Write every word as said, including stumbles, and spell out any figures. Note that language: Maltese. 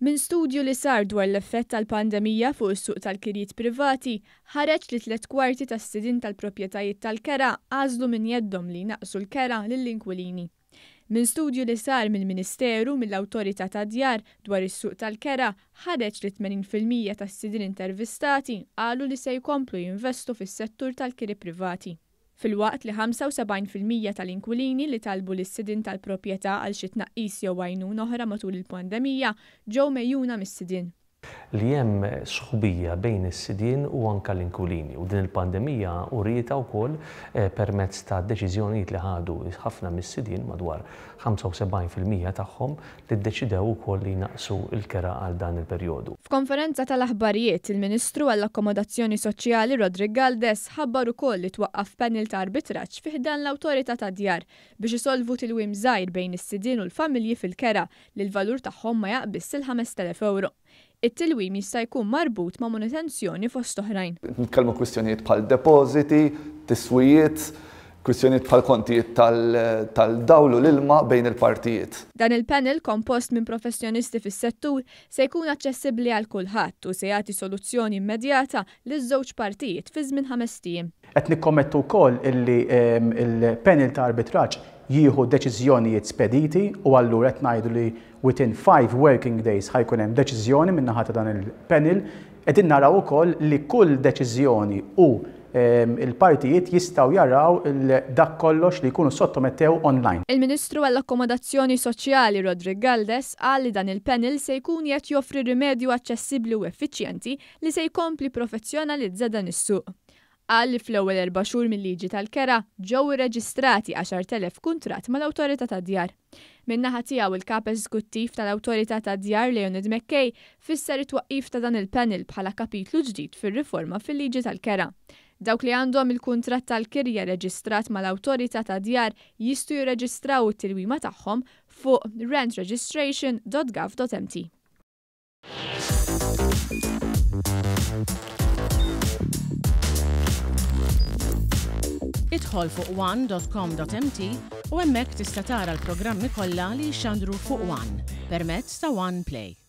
Minn studju li sar dwar l-effett tal-pandemija fuq is-suq tal-kirjiet privati, ħareġ li tliet kwarti tas-sidien tal-proprjetajiet tal-kera għażlu minn jeddhom li jnaqqsu l-kera lill-inkwilini. Minn studju li sar mill-Ministeru mill-Awtorità tad-Djar dwar is-suq tal-kera, ħareġ li tmenin fil-mija tas-sidien intervistati qalu li se jkomplu jinvestu fis-settur tal-kiri privati. Filwaqt li ħamsa u sebgħin fil-mija tal-inkwilini li talbu lis-sidien tal-proprjetà għal xi tnaqqis jew għajnuna oħra matul il-pandemija ġew mejjuna mis-sidien. Li hemm sħubija bejn is-sidien u anka l-inkwilini, u din il-pandemija urieta wkoll, eh, permezz ta' deċiżjonijiet li ħadu ħafna mis-sidien, madwar ħamsa u sebgħin fil-mija tagħhom, li ddeċidew ukoll li jnaqqsu l-kera għal dan il-perjodu. F'konferenza tal-aħbarijiet, il-Ministru għall-Akkomodazzjoni Soċjali Roderick Galdes ħabbar ukoll li twaqqaf panel ta' arbitraġġ fi ħdan l-Awtorità tad-Djar biex isolvu tilwim żgħir bejn is-sidien u l-familji fil-kera li l-valur tagħhom ma jaqbiss il-ħamest elef euro. It-tilwim jista' jkun marbut ma' manutenzjoni fost oħrajn. Nitkellmu kwistjonijiet bħal depożiti, tiswijiet, kwistjonijiet bħal kontijiet tal-, tal-dawl u l-ilma bejn il-partijiet. Dan il-panel kompost minn professjonisti fis-settur se jkun aċċessibbli għal kulħadd u se jagħti soluzzjoni immedjata liż-żewġ partijiet fi żmien ħames ijiem. Qed nikkommettu wkoll illi, ehm, il-panel ta' arbitraġġ jieħu deċiżjonijiet spediti u allura qed ngħidu li within five working days ħajkun hemm deċiżjoni min-naħa ta' dan il-panel. Qegħdin naraw ukoll li kull deċiżjoni u, ehm, il-partijiet jistgħu jaraw il-, dak kollox li jkunu sottomettew online. Il-Ministru għall-Akkomodazzjoni Soċjali Roderick Galdes qal li dan il-panel se jkun qed joffri rimedju aċċessibbli u effiċjenti li se jkompli professjonalizza dan is-suq. Qal li fl-ewwel erba' xhur mill-liġi tal-kera ġew irreġistrati għaxart elef kuntratt mal-Awtorità tad-Djar. Min-naħa tiegħu il-kap eżekuttiv tal-Awtorità tad-Djar Leonid McKay fisser it-twaqqif ta' dan il-panel bħala kapitlu ġdid fir-riforma fil-liġi tal-kera. Dawk li għandhom il-kuntratt tal-kirja reġistrat mal-Awtorità tad-Djar jistgħu jirreġistraw it-tilwima tagħhom fuq rent registration dot gov dot m t. Idħol fuq one dot com dot m t u hemmhekk tista' tara l-programmi kollha li jixxandru fuq One permezz ta' One Play.